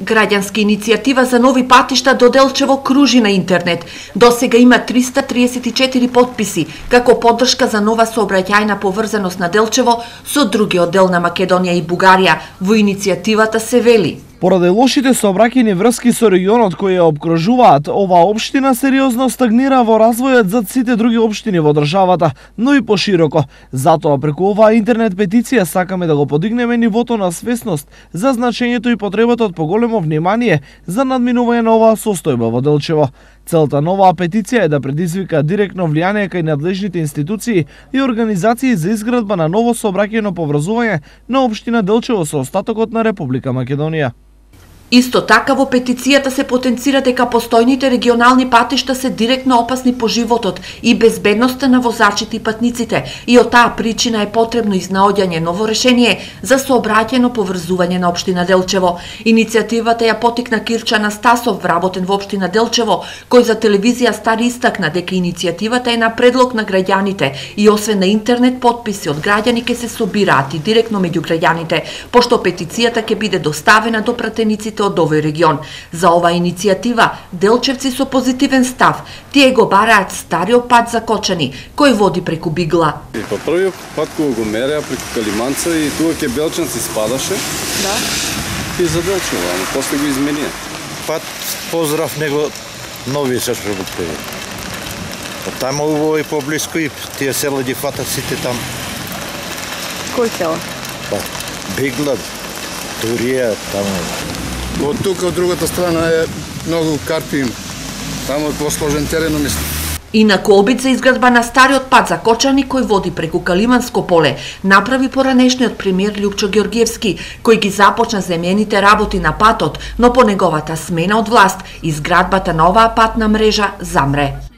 Граѓанска иницијатива за нови патишта до Делчево кружи на интернет. До сега има 334 потписи како поддршка за нова сообраќајна поврзаност на Делчево со другиот дел на Македонија и Бугарија. Во иницијативата се вели: поради лошите сообраќајни врски со регионот кои ја обкружуваат, оваа општина сериозно стагнира во развојот зад сите други општини во државата, но и пошироко. Затоа преку оваа интернет петиција сакаме да го подигнеме нивото на свесност за значењето и потребата од поголемо внимание за надминување на оваа состојба во Делчево. Целта на оваа петиција е да предизвика директно влијание кај надлежните институции и организации за изградба на ново сообраќајно поврзување на општина Делчево со остатокот на Република Македонија. Исто така во петицијата се потенцира дека постојните регионални патишта се директно опасни по животот и безбедноста на возачите и патниците и од таа причина е потребно изнаоѓање ново решение за сообраќајно поврзување на општина Делчево. Иницијативата ја потикна Кирча Анастасов, вработен во општина Делчево, кој за телевизија Стар истакна дека иницијативата е на предлог на граѓаните и освен на интернет потписи од граѓани ќе се собираат и директно меѓу граѓаните, пошто петицијата ќе биде доставена до пратениците од овој регион. За оваа иницијатива делчевци со позитивен став, тие го бараат стариот пат за Кочани, кој води преку Бигла. Па првиот пат кога го мереа преку Калиманца и тука ке Белчанци спадаше. Да. И за Делчево, ама после го изменија. Пат поздрав него нови се работи. Таму убаво и поблиску и тие села ги фатат сите там. Кој села? Па Бигла, Турија, таму. Од тука, од другата страна е многу карпи, таму е посложен терен, мислам. Инаку обид за изградба на стариот пат за Кочани кој води преку Калиманско поле направи поранешниот премиер Љупчо Ѓорѓевски, кој ги започна земјените работи на патот, но по неговата смена од власт изградбата на оваа патна мрежа замре.